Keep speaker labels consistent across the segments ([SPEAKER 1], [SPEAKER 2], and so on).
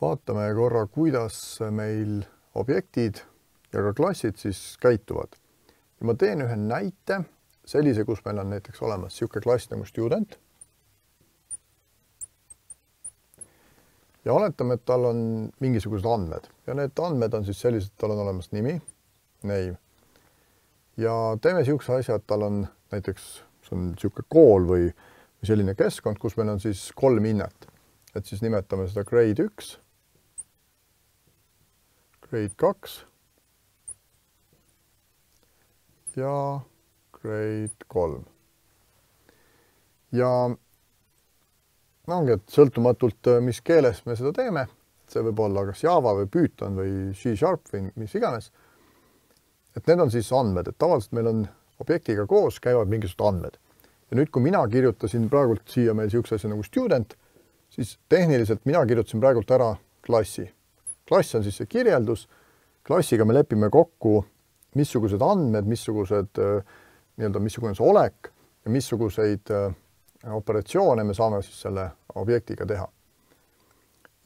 [SPEAKER 1] Vaatame korra, kuidas meil objektid ja ka klassid siis käituvad. Ja ma teen ühe näite, sellise, kus meil on näiteks olemas siuke klass nagu student. Ja oletame, et tal on mingisugused andmed. Ja need andmed on siis sellised, et tal on olemas nimi, name. Ja teeme siukse asja, et tal on näiteks see on siuke kool või selline keskkond, kus meil on siis 3 hinnet. Et siis nimetame seda grade 1, grade 2 ja grade 3. Ja ongi, et sõltumatult, mis keeles me seda teeme, see võib olla kas Java või Python või C# või mis iganes, et need on siis andmed, et tavaliselt meil on objektiga koos käivad mingisugused andmed. Ja nüüd, kui mina kirjutasin praegult siia meil siukse asja nagu student, siis tehniliselt mina kirjutasin praegult ära klassi. Klass on siis see kirjeldus. Klassiga me lepime kokku, missugused andmed, missugune see olek ja missuguseid operatsioone me saame siis selle objektiga teha.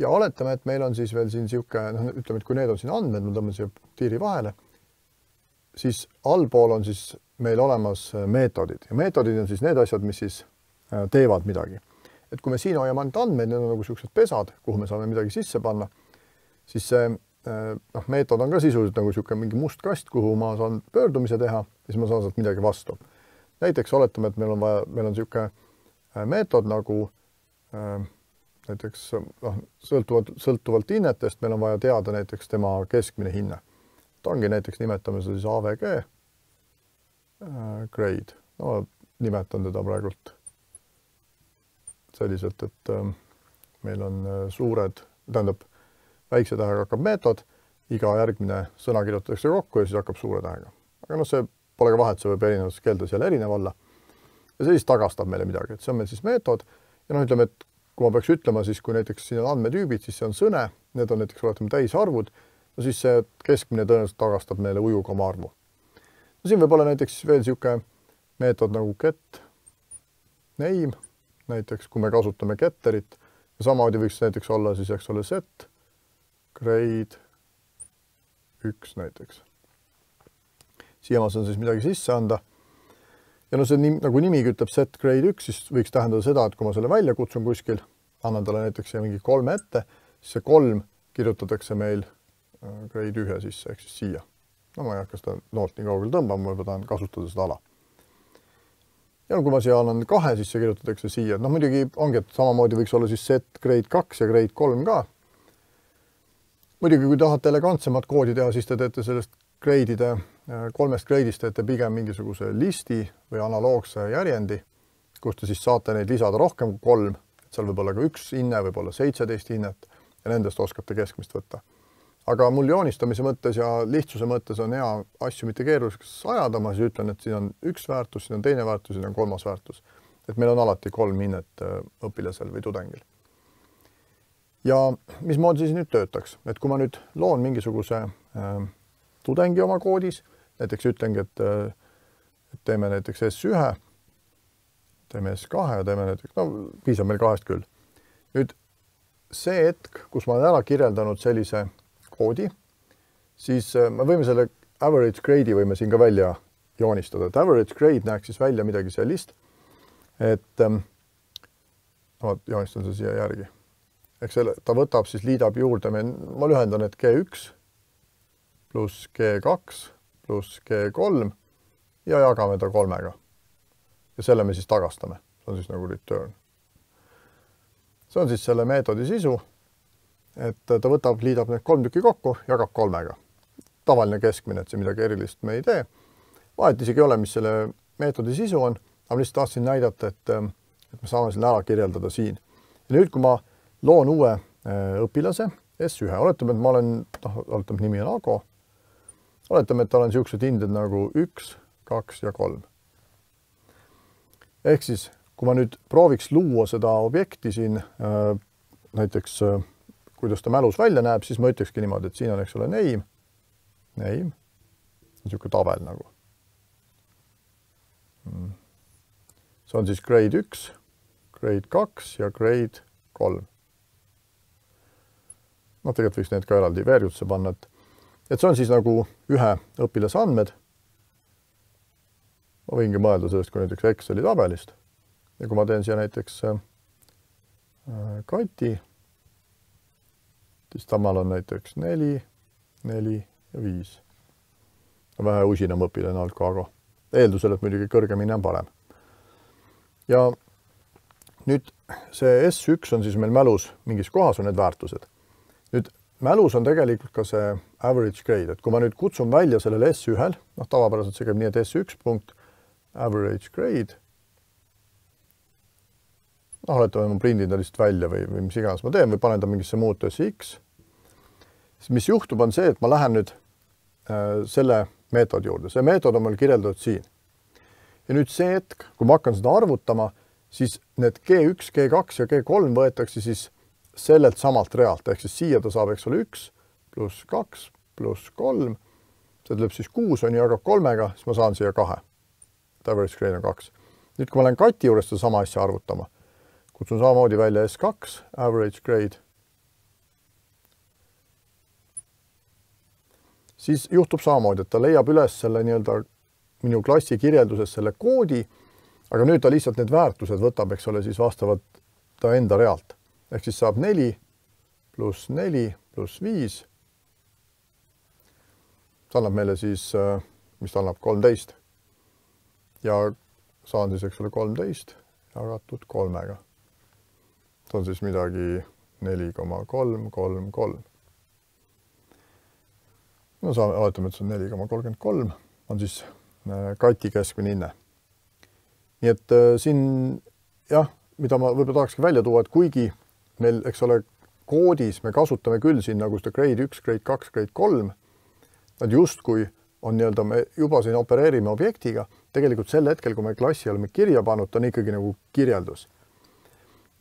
[SPEAKER 1] Ja oletame, et meil on siis veel siin siuke, ütleme, et kui need on siin andmed, me tõmbame siia tiiri vahele, siis allpool on siis meil olemas meetodid. Ja meetodid on siis need asjad, mis siis teevad midagi. Et kui me siin hoiame ainult andmeid, need on nagu siuksed pesad, kuhu me saame midagi sisse panna, siis see meetod on ka sisuliselt nagu siuke mingi must kast, kuhu ma saan pöördumise teha, siis ma saan sealt midagi vastu. Näiteks oletame, et meil on siuke meetod nagu näiteks sõltuvalt hinnetest, meil on vaja teada näiteks tema keskmine hinne. Ta ongi näiteks, nimetame seda siis AVG grade. No, nimetan teda praegult selliselt, et meil on suured, tähendab, väikse tähega hakkab meetod, iga järgmine sõna kirjutatakse kokku ja siis hakkab suure tähega. Aga see pole ka vahet, see võib erinevates keeltes jälle erinev olla. Ja see siis tagastab meile midagi, et see on meil siis meetod. Ja ütleme, et kui ma peaks ütlema, siis kui näiteks siin on andmetüübid, siis see on sõne, need on näiteks oletame täisarvud, no siis see keskmine tõenäoliselt tagastab meile ujukoma arvu. No siin võib olla näiteks veel siuke meetod nagu get name, näiteks kui me kasutame getterit, ja samamoodi võiks näiteks olla siis, eks ole, set grade 1 näiteks. Siia ma saan siis midagi sisse anda. Ja no see nagu nimigi ütleb set grade 1, siis võiks tähendada seda, et kui ma selle välja kutsun kuskil, annan talle näiteks mingi 3 ette, siis see 3 kirjutatakse meil grade 1 sisse, ehk siis siia. No ma ei hakka seda noot nii kaugel tõmbama, ma tahan kasutada seda ala. Ja kui ma siia annan 2, siis see kirjutatakse siia. No muidugi ongi, et samamoodi võiks olla siis set grade 2 ja grade 3 ka. Muidugi, kui tahate elegantsemat koodi teha, siis te teete sellest grade'ide, 3 grade'ist teete pigem mingisuguse listi või analoogse järjendi, kus te siis saate neid lisada rohkem kui 3. Seal võib olla ka 1 hinne, võib olla 17 hinnet ja nendest oskate keskmist võtta. Aga mul joonistamise mõttes ja lihtsuse mõttes on hea asju mitte keeruliseks ajada, ma siis ütlen, et siin on 1 väärtus, siin on 2 väärtus, siin on 3 väärtus. Et meil on alati 3 hinnet õpilasel või tudengil. Ja mismoodi siis nüüd töötaks? Et kui ma nüüd loon mingisuguse tudengi oma koodis, näiteks ütlengi, et teeme näiteks S1, teeme S2 ja teeme näiteks, no piisab meil 2 küll. Nüüd see hetk, kus ma olen ära kirjeldanud sellise koodi, siis me võime selle average grade'i võime siin ka välja joonistada. Et average grade näeks siis välja midagi sellist, et joonistan seda siia järgi. Eks ta võtab siis, liidab juurde, ma lühendan, et G1 pluss G2 pluss G3 ja jagame ta 3-ga. Ja selle me siis tagastame. See on siis nagu return. See on siis selle meetodi sisu. Et ta võtab, liidab need 3 tükki kokku, jagab 3-ga. Tavaline keskmine, et see midagi erilist me ei tee. Vahet isegi ei ole, mis selle meetodi sisu on, aga lihtsalt tahtsin näidata, et me saame selle ära kirjeldada siin. Ja nüüd, kui ma loon uue õpilase, S1, oletame, et ma olen, oletame, nimi on Ago, oletame, et tal on siuksed hinded nagu 1, 2 ja 3. Ehk siis, kui ma nüüd prooviks luua seda objekti siin, näiteks kuidas ta mälus välja näeb, siis ma ütlekski niimoodi, et siin on, eks ole, name, niisugune tabel nagu. See on siis grade 1, grade 2 ja grade 3. tegelikult võiks need ka eraldi veerjutusse panna, et see on siis nagu ühe õpilase andmed. Ma võingi mõelda sellest kui näiteks Exceli tabelist. Ja kui ma teen siia näiteks Kati, siis tamal on näiteks 4, 4 ja 5. Vähe usinam õpilane alt kui Ago. Eeldusel, et muidugi kõrgemini on parem. Ja nüüd see S1 on siis meil mälus mingis kohas on need väärtused. Nüüd mälus on tegelikult ka see average grade, et kui ma nüüd kutsun välja sellele S1-l, tavapäraselt see käib nii, et S1 punkt average grade, oletame, ma prindin ta lihtsalt välja või mis iganes ma teen või panen ta mingisse muutesse X, siis mis juhtub on see, et ma lähen nüüd selle meetodi juurde. See meetod on meil kirjeldatud siin. Ja nüüd see hetk, kui ma hakkan seda arvutama, siis need G1, G2 ja G3 võetakse siis sellelt samalt realt, ehk siis siia ta saab, eks ole, 1 pluss 2 pluss 3, see tuleb siis 6 on jagab 3-ga, siis ma saan siia 2. Average grade on 2. Nüüd, kui ma lähen Kati juures seda sama asja arvutama, kutsun samamoodi välja S2, average grade, siis juhtub samamoodi, et ta leiab üles selle nii-öelda minu klassi kirjelduses selle koodi, aga nüüd ta lihtsalt need väärtused võtab, eks ole, siis vastavalt ta enda realt. Ehk siis saab 4 pluss 4 pluss 5. See annab meile siis, mis ta annab, 13. Ja saan siis, eks ole, 13 jagatud 3-ga. See on siis midagi 4,333. No oletame, et see on 4,33, on siis Kati keskmine hinne. Nii et siin, jah, mida ma võib-olla tahakski välja tuua, et kuigi meil, eks ole, koodis me kasutame küll siin nagu seda grade 1, grade 2, grade 3, nad justkui on nii-öelda, me juba siin opereerime objektiga, tegelikult sel hetkel, kui me klassi oleme kirja pannud, ta on ikkagi nagu kirjeldus.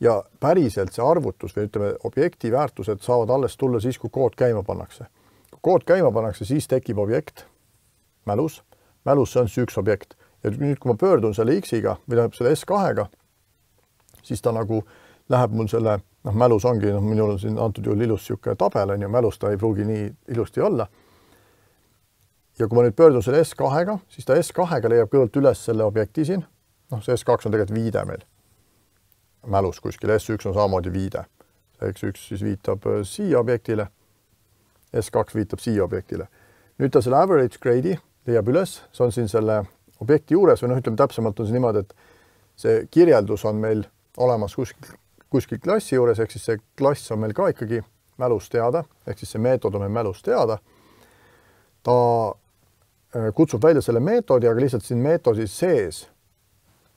[SPEAKER 1] Ja päriselt see arvutus või ütleme, objekti väärtused saavad alles tulla siis, kui kood käima pannakse. Kui kood käima pannakse, siis tekib objekt, mälus. Mälus see on siis üks objekt. Ja nüüd, kui ma pöördun selle X-iga või tähendab selle S2-ga, siis ta nagu läheb mul selle, mälus ongi, minul on siin antud juhul ilus siuke tabel, ja mälus ta ei pruugi nii ilusti olla. Ja kui ma nüüd pöördun selle S2-ga, siis ta S2-ga leiab kõigepealt üles selle objekti siin. See S2 on tegelikult viide meil. Mälus kuskil, S1 on samamoodi viide. X1 siis viitab siia objektile, S2 viitab siia objektile. Nüüd ta selle average grade'i leiab üles, see on siin selle objekti juures või ütleme täpsemalt on see niimoodi, et see kirjeldus on meil olemas kuskil klassi juures, ehk siis see klass on meil ka ikkagi mälus teada, ehk siis see meetod on meil mälus teada. Ta kutsub välja selle meetodi, aga lihtsalt siin meetodi sees,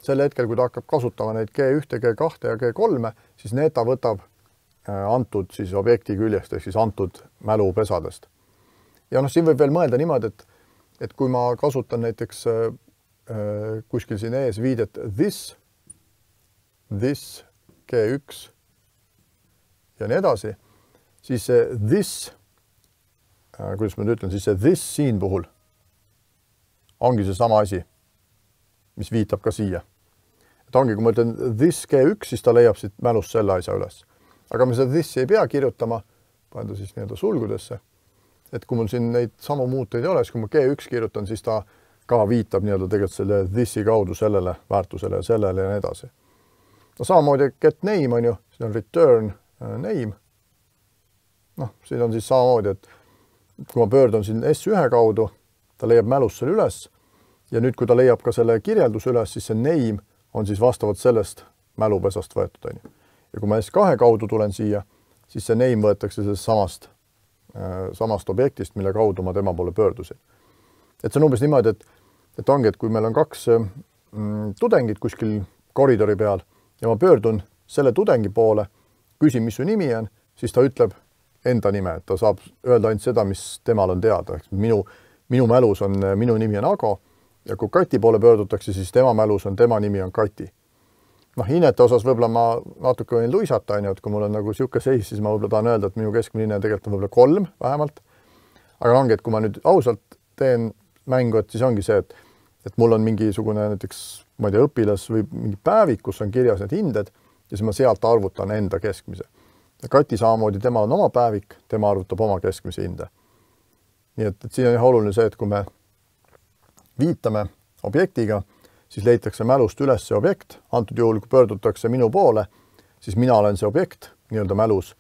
[SPEAKER 1] selle hetkel, kui ta hakkab kasutama neid G1, G2 ja G3, siis need ta võtab antud siis objekti küljest, ehk siis antud mälupesadest. Ja siin võib veel mõelda niimoodi, et kui ma kasutan näiteks kuskil siin ees viidet this, G1 ja nii edasi, siis see this, kuidas ma nüüd ütlen, siis see this siin puhul ongi see sama asi, mis viitab ka siia. Et ongi, kui ma ütlen this G1, siis ta leiab siit mälust selle asja üles. Aga me seda this ei pea kirjutama, panen ta siis nii-öelda sulgudesse. Et kui mul siin neid samu muuteid ei ole, siis kui ma G1 kirjutan, siis ta ka viitab nii-öelda tegelikult selle this'i kaudu sellele väärtusele ja sellele ja nii edasi. Samamoodi get name on ju, siin on return name. Siin on siis samamoodi, et kui ma pöördun siin S1 kaudu, ta leiab mälust selle üles ja nüüd, kui ta leiab ka selle kirjelduse üles, siis see name on siis vastavalt sellest mälupesast võetud. Ja kui ma S2 kaudu tulen siia, siis see name võetakse sellest samast objektist, mille kaudu ma tema poole pöördusin. Et see on umbes niimoodi, et ongi, et kui meil on kaks tudengit kuskil koridori peal ja ma pöördun selle tudengi poole, küsin, mis su nimi on, siis ta ütleb enda nime, et ta saab öelda ainult seda, mis temal on teada. Minu mälus on, minu nimi on Ago ja kui Kati poole pöördutakse, siis tema mälus on, tema nimi on Kati. Hinnete osas võib-olla ma natuke võin luisata, et kui mul on nagu siuke seis, siis ma võib-olla tahan öelda, et minu keskmine hinne tegelikult on võib-olla 3 vähemalt. Aga ongi, et kui ma nüüd ausalt teen mängu, et siis ongi see, et mul on mingisugune näiteks, ma ei tea, õpilas või mingi päevik, kus on kirjas need hinded ja siis ma sealt arvutan enda keskmise. Ja Kati samamoodi, temal on oma päevik, tema arvutab oma keskmise hinde. Nii et siin on jah oluline see, et kui me viitame objektiga, siis leitakse mälust üles see objekt. Antud juhul, kui pöördutakse minu poole, siis mina olen see objekt nii-öelda mälus.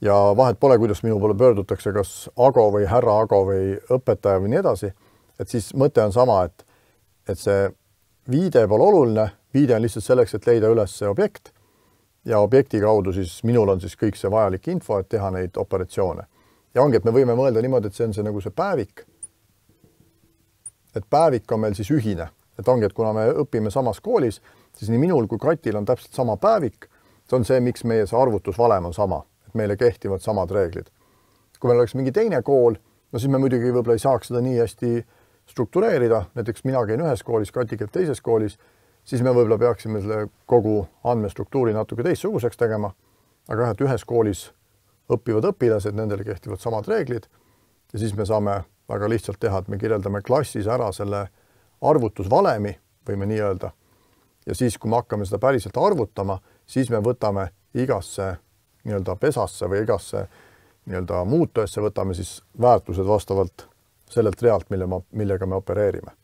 [SPEAKER 1] Ja vahet pole, kuidas minu poole pöördutakse, kas Ago või härra Ago või õpetaja või nii edasi. Et siis mõte on sama, et see viide pole oluline. Viide on lihtsalt selleks, et leida üles see objekt ja objekti kaudu siis minul on siis kõik see vajalik info, et teha neid operatsioone. Ja ongi, et me võime mõelda niimoodi, et see on see nagu see päevik. Et päevik on meil siis ühine. Et ongi, et kuna me õpime samas koolis, siis nii minul kui Katil on täpselt sama päevik. See on see, miks meie see arvutusvalem on sama. Et meile kehtivad samad reeglid. Kui meil oleks mingi teine kool, no siis me muidugi võib-olla ei saaks seda nii hästi struktureerida. Näiteks mina käin ühes koolis, Kati käib teises koolis, siis me võib-olla peaksime selle kogu andmestruktuuri natuke teistsuguseks tegema. Aga jah, et ühes koolis õpivad õpilased, nendele kehtivad samad reeglid ja siis me saame väga lihtsalt teha, et me kirjeldame klassis ära selle arvutusvalemi, võime nii öelda. Ja siis, kui me hakkame seda päriselt arvutama, siis me võtame igasse nii-öelda pesasse või igasse nii-öelda muutujasse võtame siis väärtused vastavalt sellelt realt, millega me opereerime.